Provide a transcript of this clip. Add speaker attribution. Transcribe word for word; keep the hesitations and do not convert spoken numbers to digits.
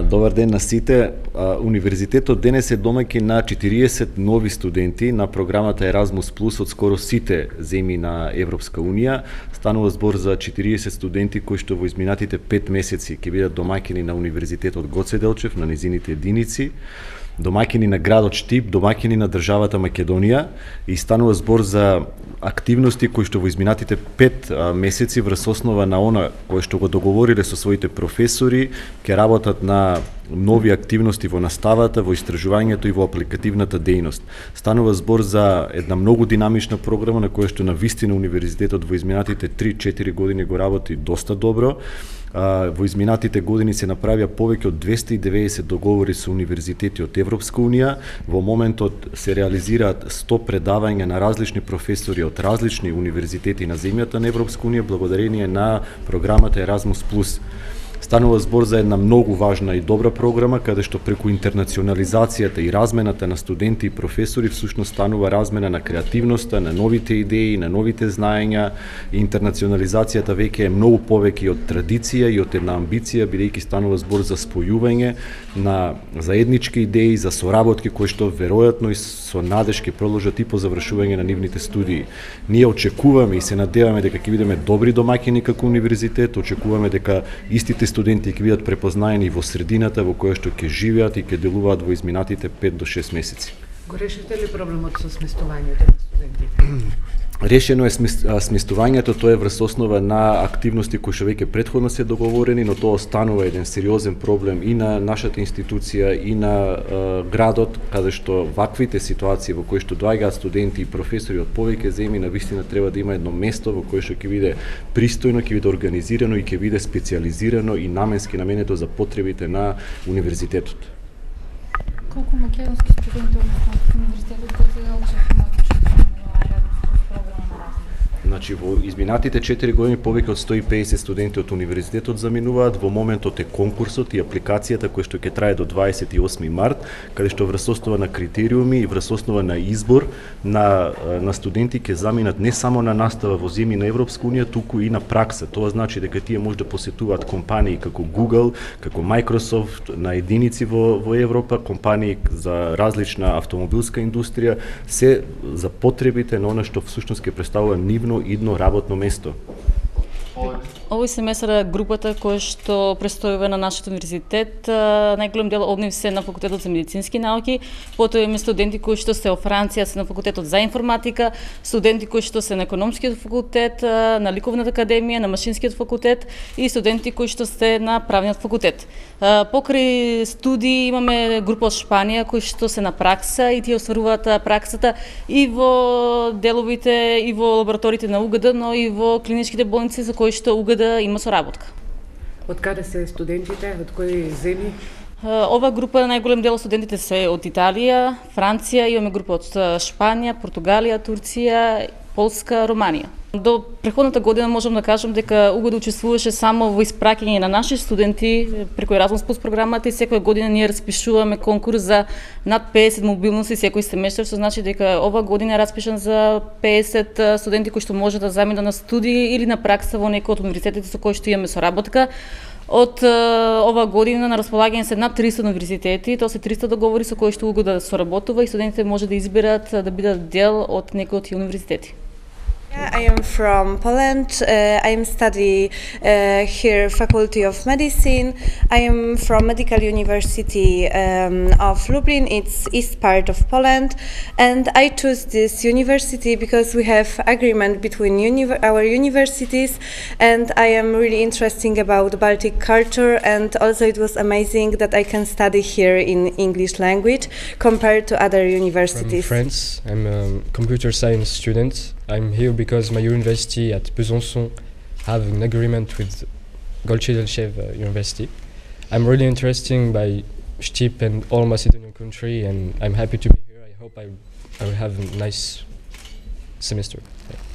Speaker 1: Добар ден на сите. Универзитетот денес е домаќин на четириесет нови студенти на програмата Еразмус плюс од скоро сите земји на Европска унија. Станува збор за четириесет студенти кои што во изминатите пет месеци ќе бидат домаќини на Универзитетот Гоце Делчев, на незините единици, домаќини на градот Штип, домаќини на државата Македонија, и станува збор за активности кои што во изминатите пет месеци врз основа на она кои што го договориле со своите професори, ќе работат на нови активности во наставата, во истражувањето и во апликативната дејност. Станува збор за една многу динамична програма на која што на вистина Универзитетот во изминатите три-четири години го работи доста добро. Во изминатите години се направија повеќе од двесте и деветдесет договори со универзитети од Европска унија. Во моментот се реализираат сто предавања на различни професори од различни универзитети на земјата на Европска унија благодарение на програмата Еразмус плюс. Станува збор за една многу важна и добра програма, каде што преку интернационализацијата и размената на студенти и професори всушност станува размена на креативноста, на новите идеи, на новите знаења. Интернационализацијата веќе е многу повеќе од традиција и од една амбиција, бидејќи станува збор за спојување на заеднички идеи, за соработки кои што веројатно и со надеж ќе продолжат и по завршување на нивните студии. Ние очекуваме и се надеваме дека ќе бидеме добри домаќини како универзитет, очекуваме дека истите студенти ќе бидат препознаени во средината во која што ќе живеат и ќе делуваат во изминатите пет до шест месеци.
Speaker 2: Го решите ли проблемот со сместувањето на студентите?
Speaker 1: Решено е сместувањето, тоа е врз основа на активности кои што веќе претходно се договорени, но тоа останува еден сериозен проблем и на нашата институција и на е, градот, каде што ваквите ситуации во кои што доаѓаат студенти и професори од повеќе земји навистина треба да има едно место во кое што ќе биде пристојно, ќе биде организирано и ќе биде специјализирано и наменски наменето за потребите на универзитетот.
Speaker 3: Колку македонски студенти од универзитетот Гоце Делчев имаат?
Speaker 1: Значи, во изминатите четири години повеќе од сто и педесет студенти од универзитетот заминуваат. Во моментот е конкурсот и апликацијата која што ќе трае до дваесет и осми март, каде што врз основа на критериуми и врз основа на избор на, на студенти ќе заминат не само на настава во земји на Европска унија, туку и на пракса. Тоа значи дека тие може да посетуваат компании како Google, како Microsoft на единици во, во Европа, компании за различна автомобилска индустрија, се за потребите на она што всушност ќе представува нивно идно работно место.
Speaker 4: Овој семестар групата која што престојува на нашиот универзитет, најголем дел од нив се на факултетот за медицински науки, потоа имаме студенти кои што се во Франција се на факултетот за информатика, студенти кои што се на економскиот факултет, на ликовната академија, на машинскиот факултет и студенти кои што се на правниот факултет. Покрај студии имаме група од Шпанија кои што се на пракса и тие остваруваат праксата и во деловите и во лабораториите на УГД, но и во клиничките болници за кои што УГД има соработка.
Speaker 2: Од каде се студентите? Од кои земји?
Speaker 4: Ова група, најголем дел од студентите се од Италија, Франција, имаме група од Шпанија, Португалија, Турција, Полска, Романија. До претходната година можам да кажам дека УГД учествуваше само во испраќање на наши студенти преку Еразмус плюс програмата и секоја година ние распишуваме конкурс за над педесет мобилности секој семестар, што значи дека ова година е распишан за педесет студенти кои што може да заминат на студии или на пракса во некој од универзитетите со кои што имаме соработка. Од ова година на располагање се над триста универзитети, тоа се триста договори со кои што УГД соработува и студентите може да изберат да бидат дел од некој од тие универзитети.
Speaker 5: Yeah, I am from Poland. Uh, I am study uh, here Faculty of Medicine. I am from Medical University um, of Lublin. It's east part of Poland, and I choose this university because we have agreement between uni our universities, and I am really interested about Baltic culture, and also it was amazing that I can study here in English language compared to other universities.
Speaker 6: From France, I'm a computer science student. I'm here because my university at Besançon have an agreement with Goce Delchev uh, University. I'm really interested by Štip and all Macedonian country, and I'm happy to be here. I hope I, I will have a nice semester. Yeah.